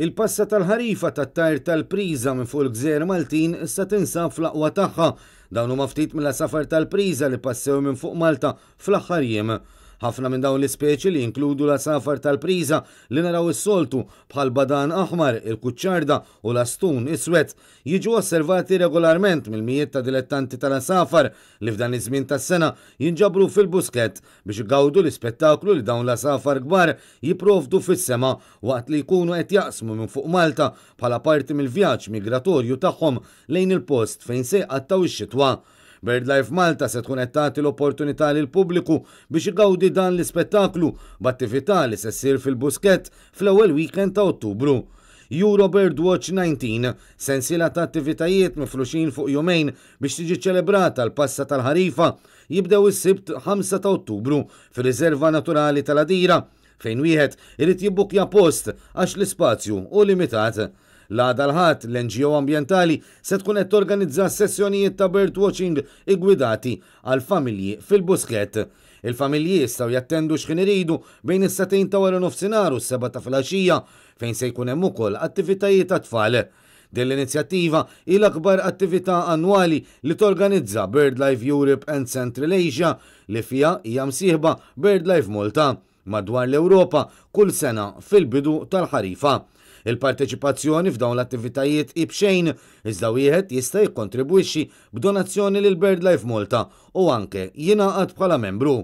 Il-passa tal-ħarifa tat-tajr tal-priża minn fuq il-gżejjer Maltin issa tinsab fl-aqwa tagħha. Dawn huma ftit mill-għasafar tal-priża li passew minn fuq Malta fl-aħħar jiem. Ħafna minn dawn l-ispeċi li jinkludu l-għasafar tal-priża li naraw is-soltu bħal badan aħmar, il-kuċċarda u l-astun iswed jiġu osservati regolarment mill-mijiet ta' dilettanti tal-għasafar li f'dan iż-żmien tas-sena jinġabru fil-Buskett biex igawdu l-ispettaklu li dawn l-għasafar kbar jipprovdu fis-sema waqt li jkunu qed jaqsmu minn fuq Malta bħala parti mill-vjaġġ migratorju tagħhom lejn il-post fejn se jqattgħu x-xitwa. BirdLife Malta se tkun qed tagħti l-opportunità lill-pubbliku biex igawdi dan l-ispettaklu b'attività li se ssir fil-Buskett fl-ewwel weekend ta' Ottubru. Euro Birdwatch 19, sensiela ta' attivitajiet mifruxin fuq jumejn biex tiġi ċċelebrata l-passa tal-ħarifa, jibdew is-Sibt 5 ta' Ottubru fir-Riserva Naturali tal-Għadira, fejn wieħed irid jibbukkja post għax l-ispazju hu limitat. L-għada l-Ħadd, l-NGO ambjentali se tkun qed torganizza sessjonijiet ta' birdwatching iggwidati għall-familji fil-Buskett. Il-familji jistgħu jattendu x'ħin iridu bejn is-sagħtejn ta' waranofsinhar u s-sebgħa ta' filgħaxija fejn se jkun hemm ukoll attivitajiet għat-tfal. Din l-inizjattiva hi l-akbar attività annwali li torganizza BirdLife Europe and Central Asia li fiha hija msieħba BirdLife Malta madwar l-Ewropa kull sena fil-bidu tal-ħarifa. Il-parteċipazzjoni f'dawn l-attivitajiet hi b'xejn, iżda wieħed jista' jikkontribwixxi b'donazzjoni lil BirdLife Malta u anke jingħaqad bħala membru.